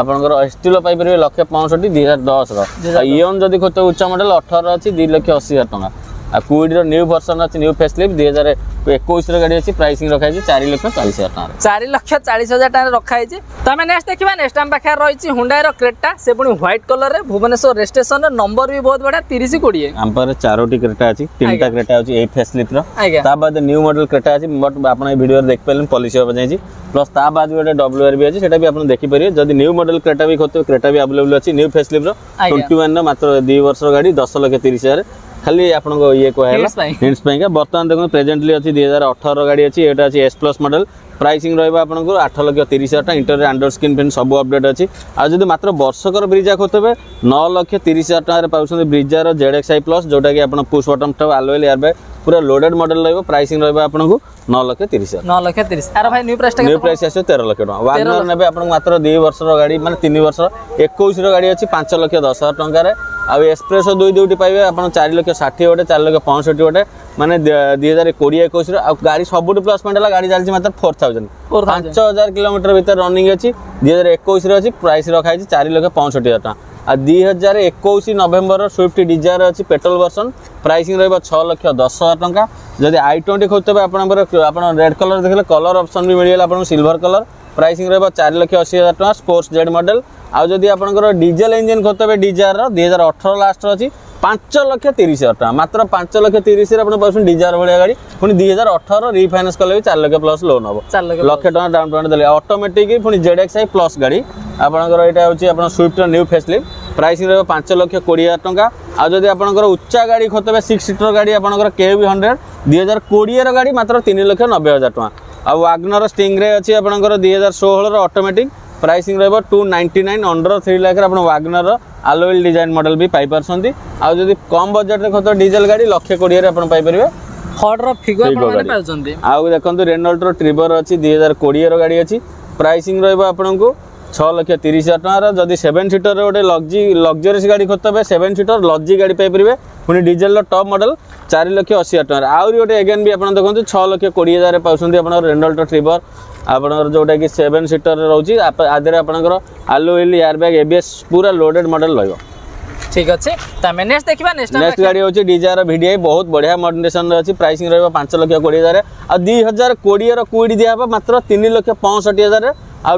ଆପଣଙ୍କର ଏଷ୍ଟିଲୋ ପାଇପାରିବେ ଲକ୍ଷେ 65, 2010ର। ଆଉ ଇଅନ୍ ଯଦି ଖୋଜୁଥିବେ ଉଚ୍ଚ ମଡେଲ, 18 ଅଛି, 2,80,000 ଟଙ୍କା। ଆଉ କୁଇଡର ନ୍ୟୁ ଭର୍ସନ ଅଛି, ନ୍ୟୁ ଫେସଲିଫ୍ଟ, 2021ର ଗାଡ଼ି ଅଛି। ପ୍ରାଇସିଂ ରଖାଯାଇଛି 4,40,000 ଟଙ୍କାରେ। 4,40,000 ଟଙ୍କାରେ ରଖାହେଇଛି। ତ ଆମେ ନେକ୍ସଟ ଦେଖିବା। ନେକ୍ସଟ ଆମ ପାଖରେ ରହିଛି ହୁଣ୍ଡାଇର କ୍ରେଟା, ସେ ପୁଣି ହ୍ୱାଇଟ୍ କଲରରେ, ଭୁବନେଶ୍ୱର ରେଜିଷ୍ଟ୍ରେସନରେ, ନମ୍ବର ବି ବହୁତ ବଢ଼ିଆ, 3020। ଆମ ପାଖରେ ଚାରୋଟି କ୍ରେଟା ଅଛି। ତିନିଟା କ୍ରେଟା ଅଛି ଏଇ ଫେସଲିଫ୍ଟର। ତା ବାଦ ନ୍ୟୁ ମଡେଲ କ୍ରେଟା ଅଛି, ବଟ୍ ଆପଣ ଏଇ ଭିଡ଼ିଓରେ ଦେଖିପାରିଲେନି, ପଲିସି ହେବା ଯାଇଛି। ପ୍ଲସ୍ ତା ବାଦ ବି ଗୋଟେ ଡବ୍ଲ୍ୟୁ ଆର୍ ବି ଅଛି, ସେଟା ବି ଆପଣ ଦେଖିପାରିବେ। ଯଦି ନ୍ୟୁ ମଡେଲ କ୍ରେଟା ବି ଖୋଜୁଥିବେ, କ୍ରେଟା ବି ଆଭେଲେବଲ୍ ଅଛି ନ୍ୟୁ ଫେସଲିଫ୍ଟର। 21ର, ମାତ୍ର 2 ବର୍ଷର ଗାଡ଼ି, 10,30,000। ଖାଲି ଆପଣଙ୍କ ଇଏ କୁହାହେଲା Hints ପାଇଁ। ହିଣ୍ଟସ୍ ପାଇଁକା। ବର୍ତ୍ତମାନ ଦେଖନ୍ତୁ, ପ୍ରେଜେଣ୍ଟଲି ଅଛି 2018ର ଗାଡ଼ି ଅଛି। ଏଇଟା ଅଛି ଏସ୍ ପ୍ଲସ୍ ମଡେଲ। ପ୍ରାଇସିଂ ରହିବ ଆପଣଙ୍କୁ 8,30,000 ଟଙ୍କା। ଇଣ୍ଟରିୟର ଆଣ୍ଡ୍ରଏଡ୍ ସ୍କ୍ରିନ୍ ଫିନ୍ ସବୁ ଅପଡେଟ୍ ଅଛି। ଆଉ ଯଦି ମାତ୍ର ବର୍ଷକର ବ୍ରିଜା ଖୋଜୁଥିବେ, 9,30,000 ଟଙ୍କାରେ ପାଉଛନ୍ତି ବ୍ରିଜାର ଜେଡ୍ ଏକ୍ସ I plus, ଯୋଉଟାକି ଆପଣ ପୁସ୍ ବଟନ୍ ଠାରୁ ଆଲୟ ହ୍ୱିଲ୍, ଏୟାର ବ୍ୟାଗ୍, ପୁରା ଲୋଡେଡ୍ ମଡେଲ ରହିବ। ପ୍ରାଇସିଂ ରହିବ ଆପଣଙ୍କୁ 9,30,000। 9 ଲକ୍ଷ 30। ଆର ଭାଇ, ନ୍ୟୁ ପ୍ରାଇସଟା? ନ୍ୟୁ ପ୍ରାଇସ୍ ଆସିବ 13 ଲକ୍ଷ ଟଙ୍କା। ୱାଗନର ନେବେ ଆପଣଙ୍କୁ ମାତ୍ର 2 ବର୍ଷର ଗାଡ଼ି, ମାନେ 3 ବର୍ଷର, 21ର ଗାଡ଼ି ଅଛି, 5,10,000 ଟଙ୍କାରେ। ଆଉ ଏସ୍ପ୍ରେସୋ ଦୁଇ ଦୁଇଟି ପାଇବେ ଆପଣ, 4 ଲକ୍ଷ 60 ଗୋଟେ, 4 ଲକ୍ଷ 65 ଗୋଟେ, ମାନେ 2020 21ର। ଆଉ ଗାଡ଼ି ସବୁଠୁ ପ୍ଲସ୍ ପଏଣ୍ଟ ହେଲା ଗାଡ଼ି ଚାଲିଛି ମାତ୍ର 4000, 5000 କିଲୋମିଟର ଭିତରେ ରନିଂ ଅଛି। 2021ରେ ଅଛି, ପ୍ରାଇସ୍ ରଖାହେଇଛି 4,65,000 ଟଙ୍କା। ଆଉ 2021 ନଭେମ୍ବର ସୁଇଫ୍ଟ ଡିଜାୟାର ଅଛି, ପେଟ୍ରୋଲ ଭର୍ସନ, ପ୍ରାଇସିଂ ରହିବ 6,10,000 ଟଙ୍କା। ଯଦି I20 ଖୋଜୁଥିବେ ଆପଣଙ୍କର, ଆପଣ ରେଡ୍ କଲର୍ ଦେଖିଲେ, କଲର୍ ଅପସନ୍ ବି ମିଳିଗଲା ଆପଣଙ୍କୁ, ସିଲଭର କଲର୍, ପ୍ରାଇସିଂ ରହିବ 4,80,000 ଟଙ୍କା, ସ୍ପୋର୍ଟସ ଜେଡ୍ ମଡେଲ। ଆଉ ଯଦି ଆପଣଙ୍କର ଡିଜେଲ ଇଞ୍ଜିନ୍ ଖୋଜୁଥିବେ, ଡିଜାୟାରର 2018 ଲାଷ୍ଟର ଅଛି, 5,30,000 ଟଙ୍କା। ମାତ୍ର 5 ଲକ୍ଷ 30ରେ ଆପଣ ପାଉଛନ୍ତି ଡିଜାୟାର ଭଳିଆ ଗାଡ଼ି, ପୁଣି 2018। ରିଫାଇନାନ୍ସ କଲେ ବି 4 ଲକ୍ଷ ପ୍ଲସ୍ ଲୋନ୍ ହେବ। 4 ଲକ୍ଷ। ଲକ୍ଷେ ଟଙ୍କା ଡାଉନ୍ ପେମେଣ୍ଟ ଦେଲେ ଅଟୋମେଟିକ୍। ପୁଣି ଜେଡ୍ ଏକ୍ସ I plus ଗାଡ଼ି ଆପଣଙ୍କର ଏଇଟା ହେଉଛି ଆପଣ ସୁଇଫ୍ଟର ନ୍ୟୁ ଫେସଲିଫ୍ଟ, ପ୍ରାଇସିଂ ରହିବ 5,20,000 ଟଙ୍କା। ଆଉ ଯଦି ଆପଣଙ୍କର ଉଚ୍ଚା ଗାଡ଼ି ଖୋଜୁଥିବେ, ସିକ୍ସ ସିଟର ଗାଡ଼ି, ଆପଣଙ୍କର କେ ୟୁଭି 100, 2020ର ଗାଡ଼ି, ମାତ୍ର 3,90,000 ଟଙ୍କା। ଆଉ ୱାଗନର ଷ୍ଟିଙ୍ଗରେ ଅଛି ଆପଣଙ୍କର 2016ର ଅଟୋମେଟିକ୍, ପ୍ରାଇସିଂ ରହିବ 299। ଅଣ୍ଡର 3 ଲାଖରେ ଆପଣ Wagon R alloy wheel design model ବି ପାଇପାରୁଛନ୍ତି। ଆଉ ଯଦି କମ୍ ବଜେଟ୍ରେ ଖୋଜୁଥିବେ ଡିଜେଲ ଗାଡ଼ି, ଲକ୍ଷେ 20ରେ ଆପଣ ପାଇପାରିବେ ଫର୍ଡର ଫିଗୋ ଫିଗୋ ଆପଣମାନେ ଗାଡ଼ି। ପାଉଛନ୍ତି। ଆଉ ଦେଖନ୍ତୁ, ରେନଲ୍ଟର ଟ୍ରିବର ଅଛି, 2020ର ଗାଡ଼ି ଅଛି। ପ୍ରାଇସିଂ ରହିବ ଆପଣଙ୍କୁ 6,30,000 ଟଙ୍କାର। ଯଦି ସେଭେନ୍ ସିଟର ଗୋଟେ ଲକ୍ଜରିୟସ୍ ଗାଡ଼ି ଖୋଜୁଥିବେ, ସେଭେନ୍ ସିଟର ଲଜି ଗାଡ଼ି ପାଇପାରିବେ, ପୁଣି ଡିଜେଲର ଟପ୍ ମଡେଲ, 4,80,000 ଟଙ୍କାରେ। ଆହୁରି ଗୋଟେ ଏଗେନ୍ ବି ଆପଣ ଦେଖନ୍ତୁ, 6,20,000 ପାଉଛନ୍ତି ଆପଣଙ୍କର ରେନଲ୍ଟର ଟ୍ରିବର, ଆପଣଙ୍କର ଯେଉଁଟାକି ସେଭେନ୍ ସିଟର ରହୁଛି। ଆ ଦେହରେ ଆପଣଙ୍କର alloy wheel, air bag, ABS, ପୁରା ଲୋଡେଡ୍ ମଡେଲ ରହିବ। ଠିକ ଅଛି, ତ ଆମେ ନେକ୍ସଟ ଦେଖିବା। ନେକ୍ସଟ ନେକ୍ସଟ ଗାଡ଼ି ହେଉଛି ଡିଜାୟାର ଭିଡିଆଇ, ବହୁତ ବଢ଼ିଆ କଣ୍ଡିସନରେ ଅଛି। ପ୍ରାଇସିଂ ରହିବ 5,20,000। ଆଉ 2020ର କୁଇଡ୍ ଦିଆହେବ ମାତ୍ର 3,65,000। ଆଉ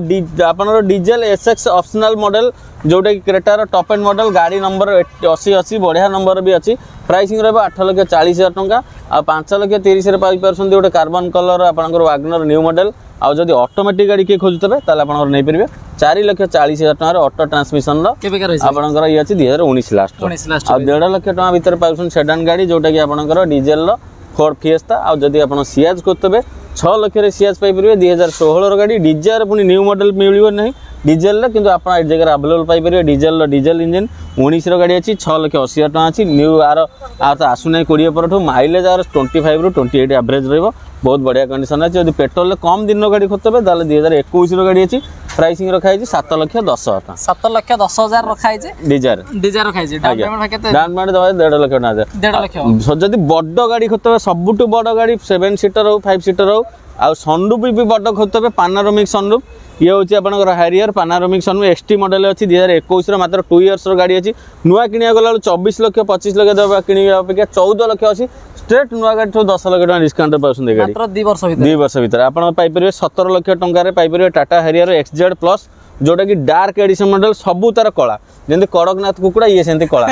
ଆପଣଙ୍କର ଡିଜେଲ ଏସ୍ଏକ୍ସ ଅପସନାଲ ମଡେଲ, ଯେଉଁଟାକି କ୍ରେଟାର ଟପ୍ ଏଣ୍ଡ ମଡେଲ, ଗାଡ଼ି ନମ୍ବର 80 80, ବଢ଼ିଆ ନମ୍ବର ବି ଅଛି। ପ୍ରାଇସିଂ ରହିବ 8,40,000 ଟଙ୍କା। ଆଉ 5 ଲକ୍ଷ 30ରେ ପାଇପାରୁଛନ୍ତି ଗୋଟେ କାର୍ବନ କଲର ଆପଣଙ୍କର ୱାଗନର ନ୍ୟୁ ମଡେଲ। ଆଉ ଯଦି ଅଟୋମେଟିକ୍ ଗାଡ଼ି କିଏ ଖୋଜୁଥିବେ, ତାହେଲେ ଆପଣଙ୍କର ନେଇପାରିବେ 4,40,000 ଟଙ୍କାର ଅଟୋ ଟ୍ରାନ୍ସମିଶନର। କେବେକା ରହିଛି? ଆପଣଙ୍କର ଇଏ ଅଛି 2019 ଲାଷ୍ଟ। 19 ଲାଷ୍ଟ। ଆଉ 1.5 ଲକ୍ଷ ଟଙ୍କା ଭିତରେ ପାଉଛନ୍ତି ସେଡାନ୍ ଗାଡ଼ି, ଯେଉଁଟାକି ଆପଣଙ୍କର ଡିଜେଲର ଫୋର୍ଡ ଫିଏସ୍ତା। ଆଉ ଯଦି ଆପଣ ସିଆଜ୍ କରୁଥିବେ, 6 ଲକ୍ଷରେ ସିଆଜ୍ ପାଇପାରିବେ, 2016ର ଗାଡ଼ି। ଡିଜାୟାର ପୁଣି ନ୍ୟୁ ମଡେଲ ମିଳିବ ନାହିଁ ଡିଜେଲରେ, କିନ୍ତୁ ଆପଣ ଏ ଜାଗାରେ ଆଭେଲେବଲ୍ ପାଇପାରିବେ। ଡିଜେଲର ଡିଜେଲ ଇଞ୍ଜିନ୍ 19ର ଗାଡ଼ି ଅଛି, 6,80,000 ଟଙ୍କା ଅଛି। ନ୍ୟୁ ଆର ଆଉ ତ ଆସୁନାହିଁ 20 ପରଠୁ। ମାଇଲେଜ୍ ଆର 25ରୁ 28 ଆଭରେଜ୍ ରହିବ। ବହୁତ ବଢ଼ିଆ କଣ୍ଡିସନ୍ ଅଛି। ଯଦି ପେଟ୍ରୋଲରେ କମ୍ ଦିନର ଗାଡ଼ି ଖୋଜୁଥିବେ, ତାହେଲେ 2021ର ଗାଡ଼ି ଅଛି। ପ୍ରାଇସିଂ ରଖାହେଇଛି 7,10,000 ଟଙ୍କା। 7,10,000 ରଖା ହେଇଛି। ଡିଜାୟାର। ଡିଜାୟାର ରଖା ହେଇଛି। ଡାଉନ୍ ପେମେଣ୍ଟ କେତେ? ଡାଉନ୍ ପେମେଣ୍ଟ ଦେବା 1.5 ଲକ୍ଷ ଟଙ୍କା। 1.5 ଲକ୍ଷ। ଯଦି ବଡ଼ ଗାଡ଼ି ଖୋଜୁଥିବେ, ସବୁଠୁ ବଡ଼ ଗାଡ଼ି, ସେଭେନ୍ ସିଟର ହଉ, ଫାଇଭ୍ ସିଟର ହଉ, ଆଉ ସନରୁଫ୍ ବି ବଡ଼ ଖୋଜୁଥିବେ, ପାନାରୋମିକ୍ ସନରୁଫ୍, ଇଏ ହେଉଛି ଆପଣଙ୍କର ହାରିୟର ପାନାରୋମିକ୍ ସନରୁଫ୍ ଏକ୍ସଟି ମଡେଲ ଅଛି, 2021ର, ମାତ୍ର 2 ଇୟର୍ସର ଗାଡ଼ି ଅଛି। ନୂଆ କିଣିବାକୁ ଗଲା ବେଳକୁ 24 ଲକ୍ଷ 25 ଲକ୍ଷ ଦେବା କିଣିବା ଅପେକ୍ଷା 14 ଲକ୍ଷ ଅଛି। ଷ୍ଟ୍ରେଟ୍ ନୂଆ ଗାଡ଼ିଠୁ 10 ଲକ୍ଷ ଟଙ୍କା ଡିସକାଉଣ୍ଟ ପାଉଛନ୍ତି ଏ ଗାଡ଼ି। ମାତ୍ର 2 ବର୍ଷ ଭିତରେ। 2 ବର୍ଷ ଭିତରେ ଆପଣ ପାଇପାରିବେ, 17 ଲକ୍ଷ ଟଙ୍କାରେ ପାଇପାରିବେ ଟାଟା ହାରିୟର ଏକ୍ସ ଜେଡ୍ ପ୍ଲସ୍, ଯୋଉଟା କି ଡାର୍କ ଏଡିସନ ମଡେଲ। ସବୁ ତାର କଳା, ଯେମିତି କଡ଼କନାଥ କୁକୁଡ଼ା ଇଏ ସେମିତି କଳା।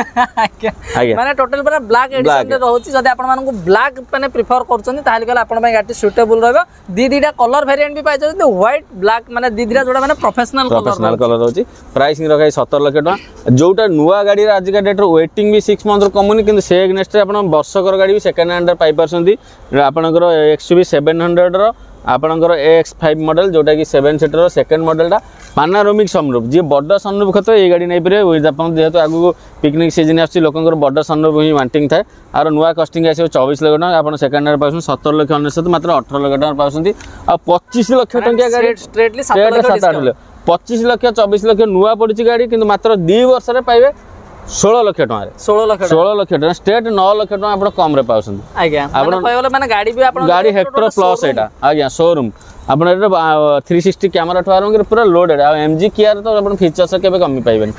ଆଜ୍ଞା। ମାନେ ଟୋଟାଲ ପୁରା ବ୍ଲାକ୍ ଏଡିସନ ରେ ରହୁଛି। ଯଦି ଆପଣ ମାନଙ୍କୁ ବ୍ଲାକ୍ ମାନେ ପ୍ରିଫର କରୁଛନ୍ତି, ତାହେଲେ ଗଲେ ଆପଣଙ୍କ ପାଇଁ ଗାଡି ସୁଇଟେବଲ ରହିବ। ଦି ଦିଟା କଲର ଭେରିଏଣ୍ଟ ବି ପାଇଯାଉଛନ୍ତି, ହ୍ୱାଇଟ୍ ବ୍ଲାକ୍, ମାନେ ଦି ଦିଟା ଯୋଉଟା ମାନେ ପ୍ରଫେସନାଲ କଲର। ପ୍ରଫେସନାଲ କଲର ରହୁଛି। ପ୍ରାଇସିଂ ରଖାଇ 17 ଲକ୍ଷ ଟଙ୍କା, ଯୋଉଟା ନୂଆ ଗାଡ଼ିର ଆଜିକା ଡେଟ୍ରେ ୱେଟିଂ ବି 6 ମନ୍ଥରୁ କମୁନି। କିନ୍ତୁ ସେ ଏଗନେଷ୍ଟରେ ଆପଣ ବର୍ଷକର ଗାଡ଼ି ବି ସେକେଣ୍ଡ ହ୍ୟାଣ୍ଡରେ ପାଇପାରୁଛନ୍ତି। ଆପଣଙ୍କର ଏକ୍ସ ୟୁ ଭି 700ର ଆପଣଙ୍କର AX5 model, ଯୋଉଟାକି 7 ସିଟର ସେକେଣ୍ଡ ମଡେଲଟା, ପାନାରୋମିକ୍ ସନରୁଫ୍। ଯିଏ ବଡ଼ ସନରୁଫ୍ ଖୋଜେ, ଏଇ ଗାଡ଼ି ନେଇପାରିବେ। ୱିଥ୍ ଆପଣ ଯେହେତୁ ଆଗକୁ ପିକନିକ୍ ସିଜନ୍ ଆସୁଛି, ଲୋକଙ୍କର ବଡ଼ ସନରୁଫ୍ ହିଁ ୱାଣ୍ଟିଂ ଥାଏ। ଆଉ ନୂଆ କଷ୍ଟିଂ ଆସିବ 24 ଲକ୍ଷ ଟଙ୍କା, ଆପଣ ସେକେଣ୍ଡ ହ୍ୟାଣ୍ଡ ପାଉଛନ୍ତି 17 ଲକ୍ଷ 99, ମାତ୍ର 18 ଲକ୍ଷ ଟଙ୍କା ପାଉଛନ୍ତି। ଆଉ 25 ଲକ୍ଷ ଟଙ୍କିଆ ଗାଡ଼ି ଷ୍ଟ୍ରେଟଲି 7 ଲକ୍ଷ। 7 8 ଲକ୍ଷ, 25 ଲକ୍ଷ, 24 ଲକ୍ଷ ନୂଆ ପଡ଼ିଛି ଗାଡ଼ି, କିନ୍ତୁ ମାତ୍ର 2 ବର୍ଷରେ ପାଇବେ 16 ଲକ୍ଷ ଟଙ୍କାରେ। 16 ଲକ୍ଷ। 16 ଲକ୍ଷ ଟଙ୍କା, ଷ୍ଟ୍ରେଟ୍ 9 ଲକ୍ଷ ଟଙ୍କା ଆପଣ କମ୍ରେ ପାଉଛନ୍ତି। ଆଜ୍ଞା, ଆପଣ କହିଗଲେ ମାନେ ଗାଡ଼ି ବି ଆପଣ ଗାଡ଼ି ହେକ୍ଟର ପ୍ଲସ୍ ଏଇଟା ଆଜ୍ଞା, ସୋରୁମ୍ ଆପଣ ଏଇଟା 360 କ୍ୟାମେରା ଠୁ ଆରମ୍ଭ କରି ପୁରା ଲୋଡେଡ୍। ଆଉ ଏମ୍ ଜି କିଆର ତ ଆପଣ ଫିଚର୍ସ କେବେ କମି ପାଇବେନି।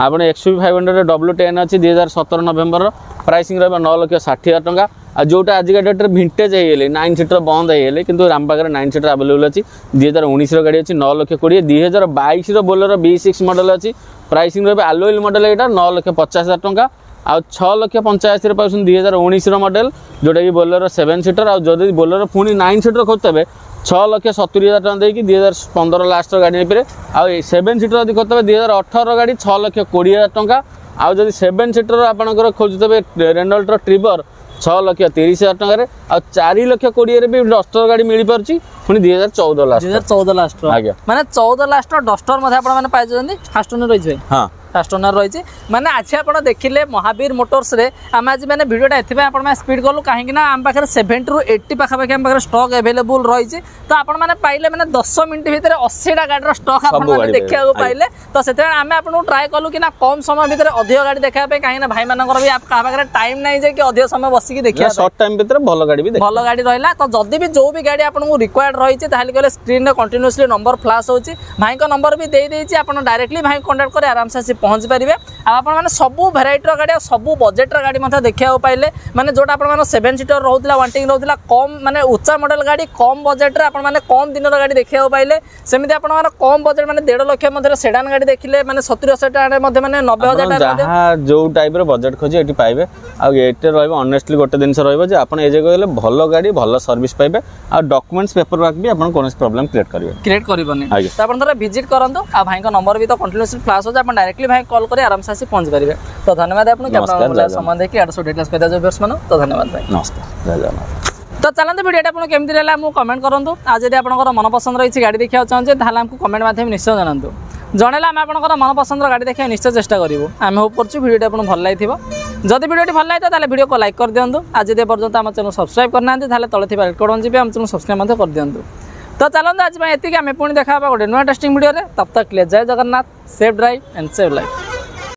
ଆପଣ ଏକ୍ସ ୟୁ 500 W10 ଅଛି, 2017 ନଭେମ୍ବର, ପ୍ରାଇସିଂ ରହିବ 9 ଲକ୍ଷ 60 ହଜାର ଟଙ୍କା। ଆଉ ଯୋଉଟା ଆଜିକା ଡେଟ୍ରେ ଭିଣ୍ଟେଜ୍ ହେଇଗଲେ, 9 ସିଟର ବନ୍ଦ ହେଇଗଲେ, କିନ୍ତୁ ଆମ ପାଖରେ 9 ସିଟର ଆଭେଲେବଲ୍ ଅଛି। 2019ର ଗାଡ଼ି ଅଛି 9 ଲକ୍ଷ 20। 2022ର ବୋଲେରୋ ବି6 ମଡେଲ ଅଛି, ପ୍ରାଇସିଂ ରହିବ ଆଲୋଇଲ ମଡେଲ ଏଇଟା 9 ଲକ୍ଷ 50 ହଜାର ଟଙ୍କା। ଆଉ 6 ଲକ୍ଷ 85ରେ ପାଉଛନ୍ତି 2019ର ମଡେଲ, ଯୋଉଟାକି ବୋଲେରୋ 7 ସିଟର। ଆଉ ଯଦି ବୋଲେରୋ ପୁଣି 9 ସିଟର ଖୋଜୁଥିବେ, 6 ଲକ୍ଷ 70 ହଜାର ଟଙ୍କା ଦେଇକି 2015 ଲାଷ୍ଟର ଗାଡ଼ି ନେଇପାରିବେ। ଆଉ 7 ସିଟର ଯଦି ଖୋଜୁଥିବେ, 2018ର ଗାଡ଼ି 6 ଲକ୍ଷ 20 ହଜାର ଟଙ୍କା। ଆଉ ଯଦି 7 ସିଟର ଆପଣଙ୍କର ଖୋଜୁଥିବେ, ରେନଲ୍ଟର ଟ୍ରିବର 6 ଲକ୍ଷ 30 ହଜାର ଟଙ୍କାରେ। ଆଉ 4 ଲକ୍ଷ 20ରେ ବି ଡଷ୍ଟର ଗାଡ଼ି ମିଳିପାରୁଛି, ପୁଣି 2014 ଲାଷ୍ଟ। 2014 ଲାଷ୍ଟର? ଆଜ୍ଞା। ମାନେ 14 ଲାଷ୍ଟର ଡଷ୍ଟର ମଧ୍ୟ ଆପଣ ମାନେ ପାଇଯାଉଛନ୍ତି। ଫାଷ୍ଟ ଓନର ରହିଛି ଭାଇ? ହଁ। ଫାଷ୍ଟ ଓନର ରହିଛି। ମାନେ ଆଜି ଆପଣ ଦେଖିଲେ ମହାବୀର ମୋଟର୍ସରେ ଆମେ ଆଜି ମାନେ ଭିଡ଼ିଓଟା ଏଥିପାଇଁ ଆପଣ ସ୍ପିଡ୍ କଲୁ, କାହିଁକି ନା ଆମ ପାଖରେ 70ରୁ 80 ପାଖାପାଖି ଆମ ପାଖରେ ଷ୍ଟକ୍ ଆଭେଲେବୁଲ୍ ରହିଛି। ତ ଆପଣମାନେ ପାଇଲେ ମାନେ 10 ମିନିଟ୍ ଭିତରେ 80ଟା ଗାଡ଼ିର ଷ୍ଟକ୍ ଆପଣମାନେ ଗାଡ଼ି ଦେଖିବାକୁ ପାଇବେ। ପାଇଲେ। ତ ସେଥିପାଇଁ ଆମେ ଆପଣଙ୍କୁ ଟ୍ରାଏ କଲୁ କି ନା କମ୍ ସମୟ ଭିତରେ ଅଧିକ ଗାଡ଼ି ଦେଖିବା ପାଇଁ, କାହିଁକି ନା ଭାଇମାନଙ୍କର ବି କାହା ପାଖରେ ଟାଇମ୍ ନାହିଁ ଯେ କି ଅଧିକ ସମୟ ବସିକି ଦେଖିବା ପାଇଁ। ସର୍ଟ ଟାଇମ୍ ଭିତରେ ଭଲ ଗାଡ଼ି ବି ଦେଖ ଭଲ ଗାଡ଼ି ରହିଲା। ତ ଯଦି ବି ଯୋଉ ବି ଗାଡ଼ି ଆପଣଙ୍କୁ ରିକ୍ୱାୟାର୍ଡ ରହିଛି, ତାହେଲେ କହିଲେ ସ୍କ୍ରିନ୍ରେ କଣ୍ଟିନ୍ୟୁସଲି ନମ୍ବର ଫ୍ଲାସ୍ ହେଉଛି, ଭାଇଙ୍କ ନମ୍ବର ବି ଦେଇଦେଇଛି। ଆପଣ ଡାଇରେକ୍ଟଲି ଭାଇଙ୍କୁ କଣ୍ଟାକ୍ଟ କରି ଆରାମସେ ଆସି ପହଞ୍ଚି ପାରିବେ। ଆଉ ଆପଣମାନେ ସବୁ ଭେରାଇଟିର ଗାଡ଼ି ଆଉ ସବୁ ବଜେଟ୍ର ଗାଡ଼ି ମଧ୍ୟ ଦେଖିବାକୁ ପାଇଲେ। ମାନେ ଯୋଉଟା ଆପଣମାନଙ୍କ 7 ସିଟର ରହୁଥିଲା, ୱାଣ୍ଟିଂ ରହୁଥିଲା, କମ୍ ମାନେ ଉଚ୍ଚା ମଡେଲ ଗାଡ଼ି, କମ୍ ବଜେଟ୍ରେ ଆପଣମାନେ କମ୍ ଦିନର ଗାଡ଼ି ଦେଖିବାକୁ ପାଇଲେ। ସେମିତି ଆପଣଙ୍କର କମ୍ ବଜେଟ୍ ମାନେ 1.5 ଲକ୍ଷ ମଧ୍ୟରେ ସେଡାନ୍ ଗାଡ଼ି ଦେଖିଲେ, ମାନେ 70-80 ଟଙ୍କାରେ ମଧ୍ୟ, ମାନେ 90 ହଜାର ଆପଣ ଟଙ୍କାରେ ମଧ୍ୟ ଯାହା ଯୋଉ ଟାଇପ୍ର ବଜେଟ୍ ଖୋଜି ଏଠି ପାଇବେ। ଆଉ ଏଠି ରହିବ ଅନେଷ୍ଟଲି ଗୋଟେ ଜିନିଷ ରହିବ ଯେ ଆପଣ ଏ ଜାଗାକୁ ଗଲେ ଭଲ ଗାଡ଼ି, ଭଲ ସର୍ଭିସ୍ ପାଇବେ। ଆଉ ଡକୁମେଣ୍ଟସ୍ ପେପର ୱାର୍କ ବି ଆପଣ କୌଣସି ପ୍ରୋବ୍ଲେମ୍ କ୍ରିଏଟ୍ କରିବେ କ୍ରିଏଟ୍ କରିବନି। ଆଜ୍ଞା। ତ ଆପଣ ଥରେ ଭିଜିଟ୍ କରନ୍ତୁ। ଆଉ ଭାଇଙ୍କ ନମ୍ବର ବି ତ କଣ୍ଟିନ୍ୟୁସଲି ଫ୍ଲାସ୍ ହେଉଛି, ଆପଣ ଡାଇରେକ୍ଟଲି ଭାଇ କଲ୍ କରି ଆରାମସେ ଆସି ପହଞ୍ଚି ପାରିବେ। ତ ଧନ୍ୟବାଦ ଆପଣଙ୍କୁ କି ଆପଣ ନମସ୍କାର, ଜୟ ସମୟ ଦେଇକି ଆଡୁ ସବୁ ଡିଟେଲ୍ସ କହିଦେବେ ଭିଉଅର୍ସ ମାନଙ୍କୁ। ତ ଧନ୍ୟବାଦ ଭାଇ। ନମସ୍କାର, ଜୟ ଜଗନ୍ନାଥ। ତ ଚାଲନ୍ତୁ, ଭିଡ଼ିଓଟା ଆପଣ କେମିତି ରହିଲା ମୁଁ କମେଣ୍ଟ କରନ୍ତୁ। ଆଉ ଯଦି ଆପଣଙ୍କର ମନ ପସନ୍ଦର କିଛି ଗାଡ଼ି ଦେଖିବାକୁ ଚାହୁଁଛନ୍ତି, ତାହେଲେ ଆମକୁ କମେଣ୍ଟ ମାଧ୍ୟମରେ ନିଶ୍ଚୟ ଜଣାନ୍ତୁ। ଜଣେଇଲେ ଆମେ ଆପଣଙ୍କର ମନ ପସନ୍ଦର ଗାଡ଼ି ଦେଖିବାକୁ ନିଶ୍ଚୟ ଚେଷ୍ଟା କରିବୁ। ଆମେ ହୋପ୍ କରୁଛୁ ଭିଡ଼ିଓଟି ଆପଣଙ୍କୁ ଭଲ ଲାଗିଥିବ। ଯଦି ଭିଡ଼ିଓଟି ଭଲ ଲାଗିଥିବ, ତାହେଲେ ଭିଡ଼ିଓକୁ ଲାଇକ୍ କରିଦିଅନ୍ତୁ। ଆଉ ଯଦି ଏପର୍ଯ୍ୟନ୍ତ ଆମ ଚ୍ୟାନେଲ୍ ସବସ୍କ୍ରାଇବ୍ କରିନାହାନ୍ତି, ତାହେଲେ ତଳେ ଥିବା ରେଡ୍ ବଟନ୍ ଚିପି ଆମ ଚ୍ୟାନେଲ୍ ସବସ୍କ୍ରାଇବ୍ ମଧ୍ୟ କରିଦିଅନ୍ତୁ। ତ ଚାଲନ୍ତୁ, ଆଜି ପାଇଁ ଏତିକି। ଆମେ ପୁଣି ଦେଖା ହେବା ଗୋଟେ ନୂଆ ଇଣ୍ଟରେଷ୍ଟିଂ ଭିଡ଼ିଓରେ। तब तक के लिए ଜୟ Jagannath, safe drive and save life.